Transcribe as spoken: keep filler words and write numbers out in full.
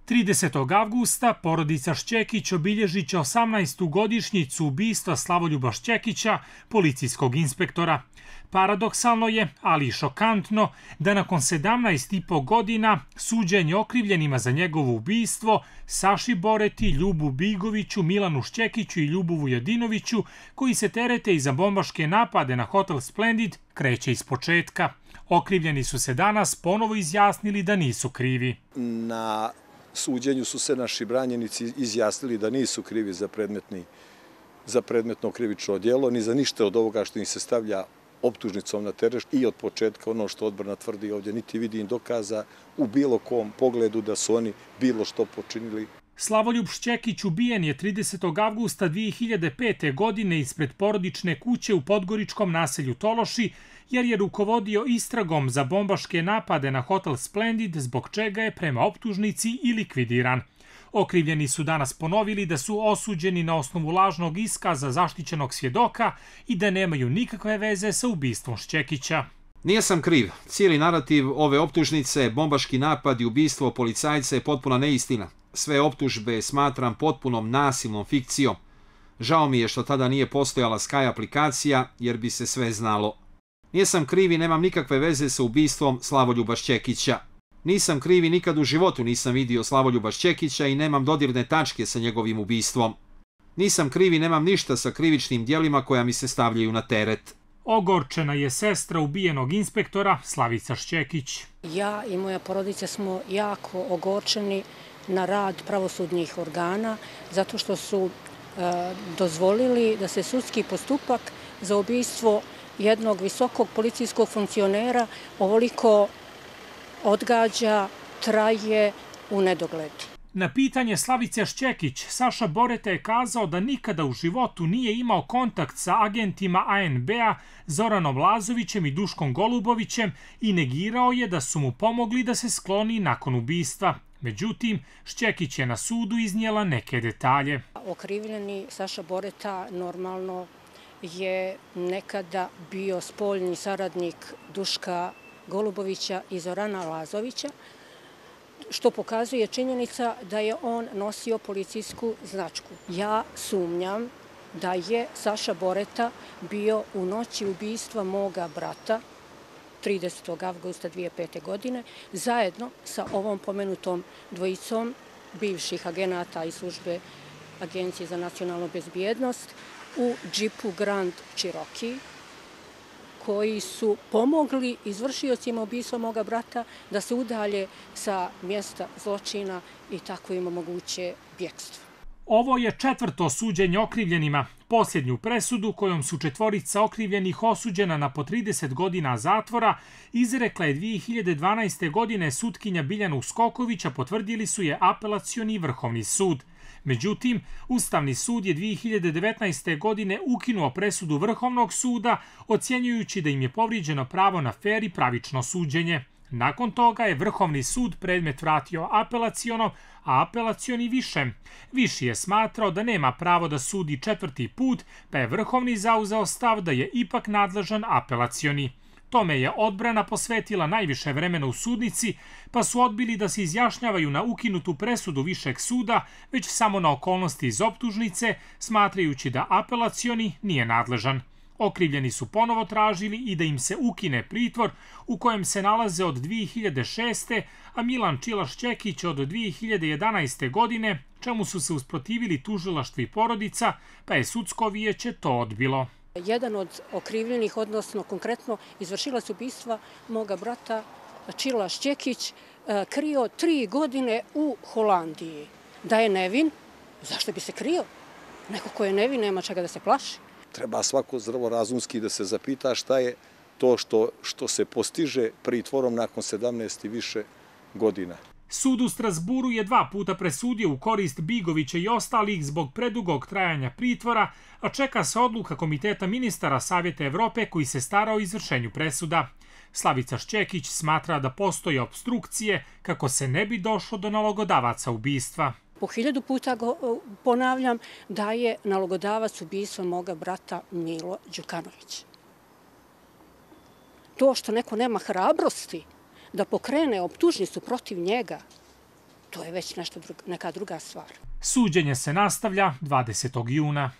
tridesetog avgusta porodica Šćekić obilježit će osamnaestu godišnjicu ubistva Slavoljuba Šćekića, policijskog inspektora. Paradoksalno je, ali i šokantno, da nakon sedamnaest i po godina suđenje okrivljenima za njegovo ubistvo Saši Boreti, Ljubu Bigoviću, Milanu Šćekiću i Ljubu Vujadinoviću, koji se terete i za bombaške napade na hotel Splendid, kreće iz početka. Okrivljeni su se danas ponovo izjasnili da nisu krivi. Na suđenju su se naši branjenici izjasnili da nisu krivi za predmetni, za predmetno krivično djelo, ni za ništa od ovoga što im se stavlja optužnicom na teret i od početka ono što odbrana tvrdi ovdje, niti vidim dokaza u bilo kom pogledu da su oni bilo što počinili. Slavoljub Šćekić ubijen je tridesetog avgusta dvije hiljade pete. godine ispred porodične kuće u podgoričkom naselju Tološi, jer je rukovodio istragom za bombaške napade na hotel Splendid, zbog čega je prema optužnici i likvidiran. Okrivljeni su danas ponovili da su osuđeni na osnovu lažnog iskaza zaštićenog svjedoka i da nemaju nikakve veze sa ubistvom Šćekića. Nisam kriv. Cijeli narativ ove optužnice, bombaški napad i ubistvo policajca je potpuna neistina. Sve optužbe smatram potpunom nasilnom fikcijom. Žao mi je što tada nije postojala Sky aplikacija, jer bi se sve znalo. Nisam kriv i nemam nikakve veze sa ubistvom Slavoljuba Šćekića. Nisam kriv i nikad u životu nisam vidio Slavoljuba Šćekića i nemam dodirne tačke sa njegovim ubistvom. Nisam kriv i nemam ništa sa krivičnim djelima koja mi se stavljaju na teret. Ogorčena je sestra ubijenog inspektora Slavica Šćekić. Ja i moja porodica smo jako ogorčeni na rad pravosudnih organa zato što su e, dozvolili da se sudski postupak za ubistvo jednog visokog policijskog funkcionera ovoliko odgađa, traje u nedogled. Na pitanje Slavice Šćekić, Saša Boreta je kazao da nikada u životu nije imao kontakt sa agentima A N B-a Zoranom Lazovićem i Duškom Golubovićem i negirao je da su mu pomogli da se skloni nakon ubistva. Međutim, Šćekić je na sudu iznijela neke detalje. Okrivljeni Saša Boreta normalno je nekada bio spoljni saradnik Duška Golubovića i Zorana Lazovića, što pokazuje činjenica da je on nosio policijsku značku. Ja sumnjam da je Saša Boreta bio u noći ubistva moga brata tridesetog avgusta dvije hiljade pete. godine zajedno sa ovom pomenutom dvojicom bivših agenata iz službe Agencije za nacionalnu bezbjednost u džipu Grand Cherokee, koji su pomogli izvršiocima ubistva moga brata da se udalje sa mjesta zločina i tako im omoguće bjekstvo. Ovo je četvrto suđenje okrivljenima. Posljednju presudu kojom su četvorica okrivljenih osuđena na po trideset godina zatvora izrekla je dvije hiljade dvanaeste. godine sutkinja Biljana Uskoković, a potvrdili su je Apelacioni vrhovni sud. Međutim, Ustavni sud je dvije hiljade devetnaeste. godine ukinuo presudu Vrhovnog suda, ocjenjujući da im je povrijeđeno pravo na fer i pravično suđenje. Nakon toga je Vrhovni sud predmet vratio apelacionom, a apelacioni višem. Viši je smatrao da nema pravo da sudi četvrti put, pa je Vrhovni zauzeo stav da je ipak nadležan apelacioni. Tome je odbrana posvetila najviše vremena u sudnici, pa su odbili da se izjašnjavaju na ukinutu presudu višeg suda, već samo na okolnosti iz optužnice, smatrajući da apelacioni nije nadležan. Okrivljeni su ponovo tražili i da im se ukine pritvor u kojem se nalaze od dvije hiljade šeste. a Milan Čila Šćekić od dvije hiljade jedanaeste. godine, čemu su se usprotivili tužilaštvo i porodica, pa je sudsko vijeće to odbilo. Jedan od okrivljenih, odnosno konkretno izvršilac ubistva moga brata Čila Šćekić, krio tri godine u Holandiji. Da je nevin, zašto bi se krio? Neko ko je nevin nema čega da se plaši. Treba svako zdravorazumski da se zapita šta je to što, što se postiže pritvorom nakon sedamnaest i više godina. Sud u Strasburu je dva puta presudio u korist Bigovića i ostalih zbog predugog trajanja pritvora, a čeka se odluka Komiteta ministara Savjeta Evrope koji se stara o izvršenju presuda. Slavica Šćekić smatra da postoje opstrukcije kako se ne bi došlo do nalogodavaca ubistva. Po hiljadu puta ponavljam da je nalogodavac ubistva moga brata Milo Đukanović. To što neko nema hrabrosti da pokrene optužnicu protiv njega, to je već nešto, neka druga stvar. Suđenje se nastavlja dvadesetog juna.